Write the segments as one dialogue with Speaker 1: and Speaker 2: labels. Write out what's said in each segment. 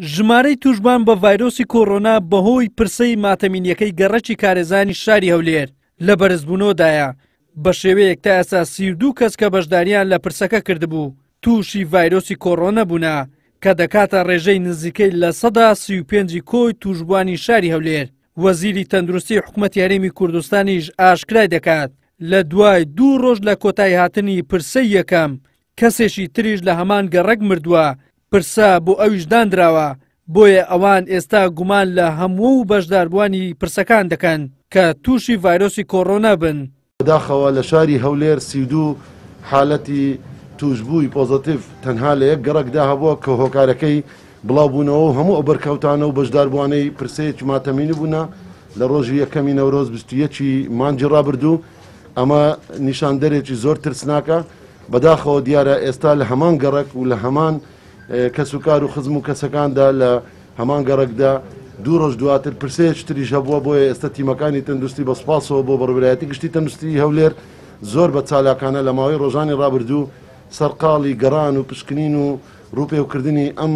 Speaker 1: ژمارەی تووشبووان بە ڤایرۆسی کۆرۆنا بەهۆی پرسەی ماتەمینیەکەی گەڕەکی کارێزانی شاری هەولێر لە بەرزبوونەوەدایە، بە شێوەیەک تا ئێستا 32 کەس کە بەشداریان لە پرسەکە کردبوو تووشی ڤایرۆسی کۆرۆنا بوونە، کە دەکاتە ڕێژەی نزیکەی 35% ی کۆی تووشبووانی شاری هەولێر. وەزیری تەندروستی حکومەتی هەرێمی کوردستانیش ئاشکرای دەکات، لە دوای دوو ڕۆژ لە کۆتاییهاتنی پرسەی یەکەم، کەسێکی تریش لە هەمان گەڕەک مردووە، پرسە بۆ ئەویش داندراوە، بۆیە ئەوان ئێستا گومان لە هەموو بەشداربووانی پرسەکان دەکەن کە تووشی ڤایرۆسی کۆرۆنا بن.
Speaker 2: بەداخەوە لە شاری هەولێر 32 حالەتی تووشبووی پۆزەتیڤ تەنها لە یەک گەڕەکدا هەبووە کە هۆکارەکەی بڵاوبوونەوە و هەموو ئەو بەرکەوتانە و بەشداربووانەی پرسەیەکی ماتەمینی بوونە لە ڕۆژی یەکەمی نەورۆز 21 ی مانگی ڕابردوو. ئەمە نیشاندەرێکی زۆر ترسناکە. بەداخەوە دیارە ئێستا لە هەمان گەڕەک و لە هەمان کەسوکار و خزم و کەسەکاندا لە هەمان گەڕەکدا دوو ڕۆژ دواتر پرسەیەکی تریش هەبووە، بۆیە ئێستا تیمەکانی تەندروستی بە سوپاسەوە بۆ بەڕێوەبەرایەتی گشتی تەندروستیی هەولێر زۆر بە چالاکانە لە ماوەی ڕۆژانی ڕابردوو سەرقاڵی گەڕان و پشکنین و ڕووپێوکردنی ئەم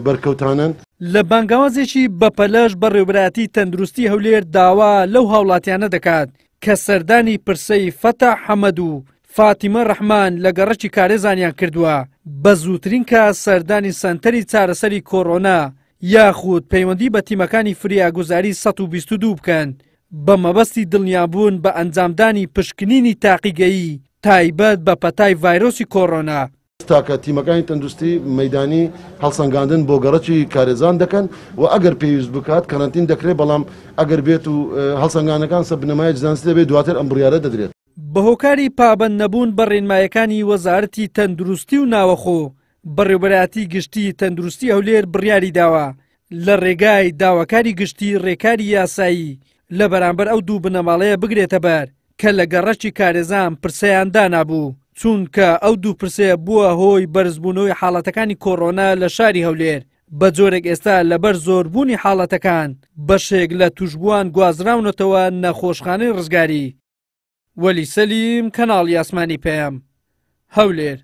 Speaker 2: بەرکەوتانەن.
Speaker 1: لە بانگەوازێکی بەپەلەش بەڕێوەبەرایەتی تەندروستی هەولێر داوا لەو هاوڵاتیانە دەکات کە سەردانی پرسەی فەتاح حەمەد و فاتیمە ڕەحمان لە گەڕەکی کارێزانیان کردووە، بە زووترین کات سەردانی سەنتەری چارەسەری کۆرۆنا یاخود پەیوەندی بە تیمەکانی فریاگوزاری 122 بکەن بە مەبەستی دڵنیابوون بە ئەنجامدانی پشکنینی تاقیگەیی تایبەت بە پەتای ڤایرۆسی کۆرۆنا.
Speaker 2: تاکە تیمەکانی تەندروستی مەیدانی هەڵسەنگاندن بۆ گەڕەکی کارێزان دەکەن و ئەگەر پێویست بکات کەرەنتین دەکرێت، بەڵام ئەگەر بێت و هەڵسەنگانەکان سەر بنەمایەکی زانستی دەبێت دواتر ئەم بڕیارە دەدرێت.
Speaker 1: بەهۆکاری پابەند نەبوون بە ڕێنمایەکانی وەزارەتی تەندروستی و ناوەخۆ، بەڕێوبەرایەتی گشتی تەندروستی هەولێر بڕیاریداوە لە ڕێگای داواکاری گشتی ڕێکاری یاسایی لە بەرامبەر ئەو دوو بنەماڵەیە بگرێتەبەر کە لە گەڕەکی کارێزان پرسەیان دانابوو، چونکە ئەو دوو پرسەیە بووە هۆی بەرزبوونەوەی حاڵەتەکانی کۆرۆنا لە شاری هەولێر، بە جۆرێک ئێستا لەبەر زۆربوونی حاڵەتەکان بەشێک لە تووشبووان گوازراونەتەوە نەخۆشخانەی ڕزگاری. وەلی سەلیم، کەناڵی ئاسمانی پەیام، هەولێر.